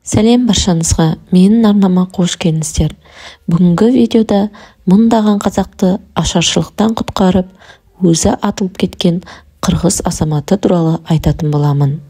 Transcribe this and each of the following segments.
Сәлем баршаңызға, менің арнама қош келдіңіздер. Бүгінгі видеода мыңдаған қазақты ашаршылықтан құтқарып, өзі атылып кеткен қырғыз азаматы туралы айтатын боламын.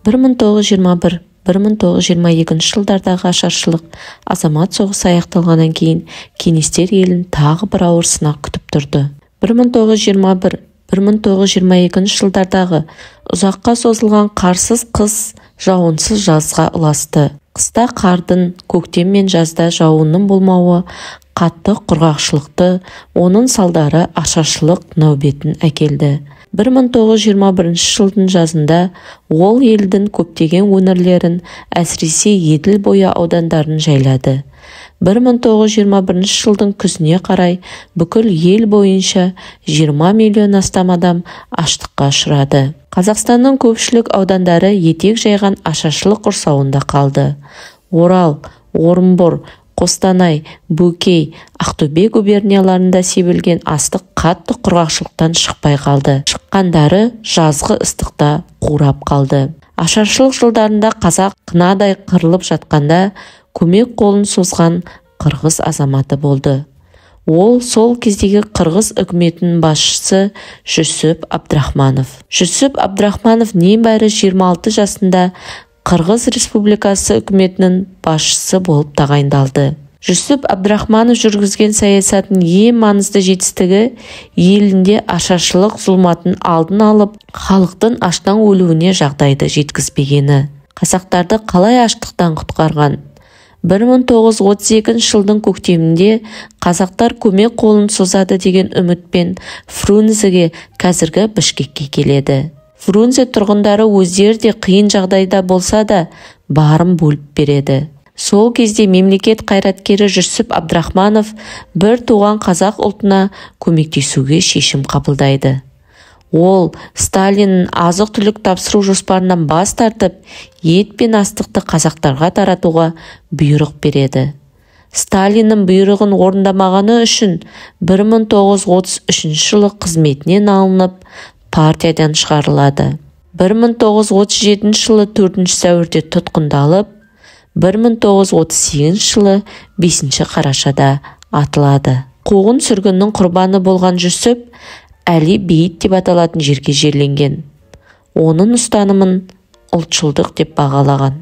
1921-1922 жылдардағы ашаршылық азамат соғысы аяқталғаннан кейін кеңестер елін тағы бір ауыр сынақ күтіп тұрды. 1921-1922 жылдардағы ұзаққа созылған қарсыз қыс жауынсыз жазға ұласты. Қыста қардың, көктем мен жазда жауынның болмауы қатты құрғақшылықты, оның салдары ашаршылық нәубетін әкелді. 1921 жылдың жазында ол елдің көптеген өңірлерін, әсіресе Еділ бойы аудандарын жайлады. 1921 жылдың күзіне қарай бүкіл ел бойынша 20 миллион астам адам аштыққа ұшырады. Қазақстанның көпшілік аудандары етек жайған ашаршылық құрсауында қалды. Орал, Орынбор, Қостанай, Бөкей, Ақтөбе губернияларында себілген астық қатты құрғақшылықтан шықпай қалды. Шыққандары жазғы ыстықта қурап қалды. Ашаршылық жылдарында қазақ қынадай қырылып жатқанда көмек қолын созған қырғыз азаматы болды. Ол сол кездегі қырғыз үкіметінің басшысы Жүсіп Абдрахманов. Жүсіп Абдрахманов небәрі 26 жасында Қырғыз Республикасы үкіметінің басшысы болып тағайындалды. Жүсіп Абдрахманов жүргізген саясаттың ең маңызды жетістігі елінде ашаршылық зұлматын алдын алып, халықтың аштан өлуіне жағдайды жеткізбегені. Қазақтарды қалай аштықтан құтқарған? 1932 жылдың көктемінде қазақтар көмек қолын созады деген үмітпен Фрунзеге, қазіргі Бішкекке келеді. Фрунзе тұрғындары өздері де қиын жағдайда болса да барын бөліп береді. Сол кезде мемлекет қайраткері Жүсіп Абдрахманов бір туған қазақ ұлтына көмектесуге шешім қабылдайды. Ол Сталиннің азық-түлік тапсыру жоспарынан бас тартып, ет пен астықты қазақтарға таратуға бұйрық береді. Сталиннің бұйрығын орындамағаны үшін 1933 жылы қызметінен алынып, партиядан шығарылады. 1937 жылы 4 сәуірде тұтқындалып, 1938 жылы 5 қарашада атылады. Қуғын сүргіннің құрбаны болған Жүсіп Әли бейіт деп аталатын жерге жерленген. Оның ұстанымын ұлтшылдық деп бағалаған.